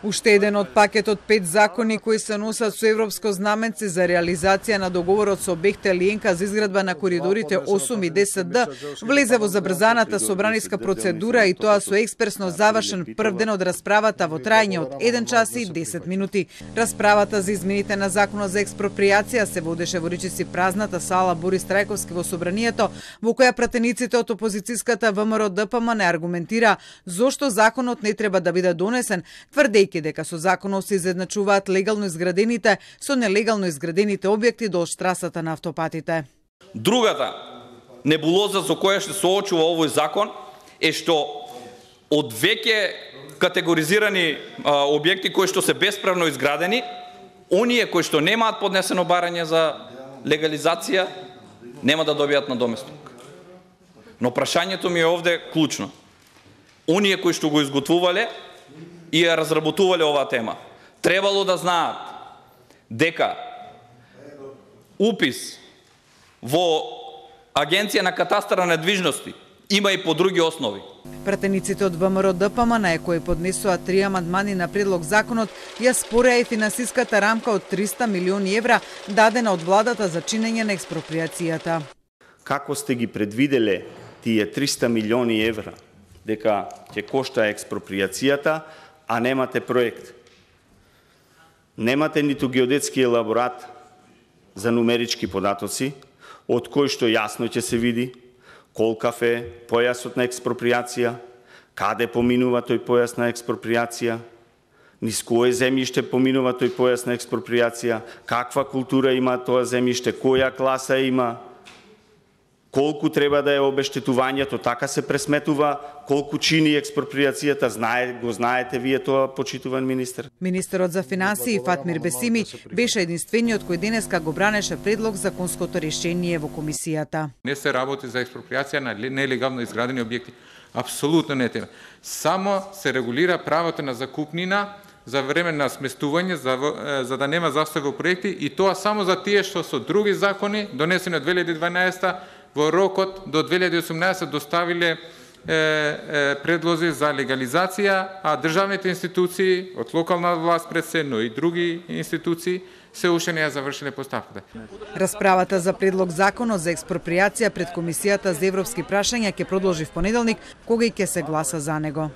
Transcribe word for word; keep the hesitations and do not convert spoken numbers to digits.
Уште еден од пакетот пет закони кои се носат со европско знаменце за реализација на договорот со Бехтел и Енка за изградба на коридорите осум и десет Д влезе во забрзаната собраниска процедура и тоа со експресно завршен прв ден од расправата во трајање од еден час и десет минути. Расправата за измените на законот за експроприација се водеше во речиси празната сала Борис Трајковски во собранието, во која пратениците од опозицијската ВМРО Д П М не аргументира зошто законот не треба да биде донесен, тврдејќи дека со законот се изедначуваат легално изградените со нелегално изградените објекти до штрасата на автопатите. Другата небулоза за која што се соочува овој закон е што од веќе категоризирани а, објекти кои што се бесправно изградени, оние кои што немаат поднесено барање за легализација нема да добијат надоместок. Но прашањето ми е овде клучно. Оние кои што го изготвувале и ја разработувале оваа тема, требало да знаат дека упис во Агенција на катастар на недвижности има и по други основи. Пратениците од ВМРО Д П М на кои поднесоа три амандмани на предлог законот, ја спореа и финансиската рамка од триста милиони евра дадена од владата за чинење на експроприацијата. Како сте ги предвиделе тие триста милиони евра дека ќе кошта експроприацијата, а немате проект? Немате ниту геодетски елаборат за нумерички податоци, од кој што јасно ќе се види колкав е појасот на експроприација, каде поминува тој појас на експроприација, низ кое земјиште поминува тој појас на експроприација, каква култура има тоа земјиште, која класа има, колку треба да е обештетувањето, така се пресметува, колку чини експроприацијата, знае, го знаете вие тоа, почитуван министер. Министерот за финансии Фатмир Бесими беше единствениот кој денеска го бранеше предлог законското решение во комисијата. Не се работи за експроприација на нелегално изградени објекти. Апсолутно не тема. Само се регулира правото на закупнина за време на сместување, за, за да нема застој во проекти, и тоа само за тие што со други закони, донесени од две илјади и дванаесета, во рокот до две илјади и осумнаесета доставиле е, е, предлози за легализација, а државните институции, од локална власт пред се, но и други институции, се уште не ја завршиле поставката. Расправата за предлог законот за експроприација пред Комисијата за европски прашања ќе продолжи в понеделник, кога и ќе се гласа за него.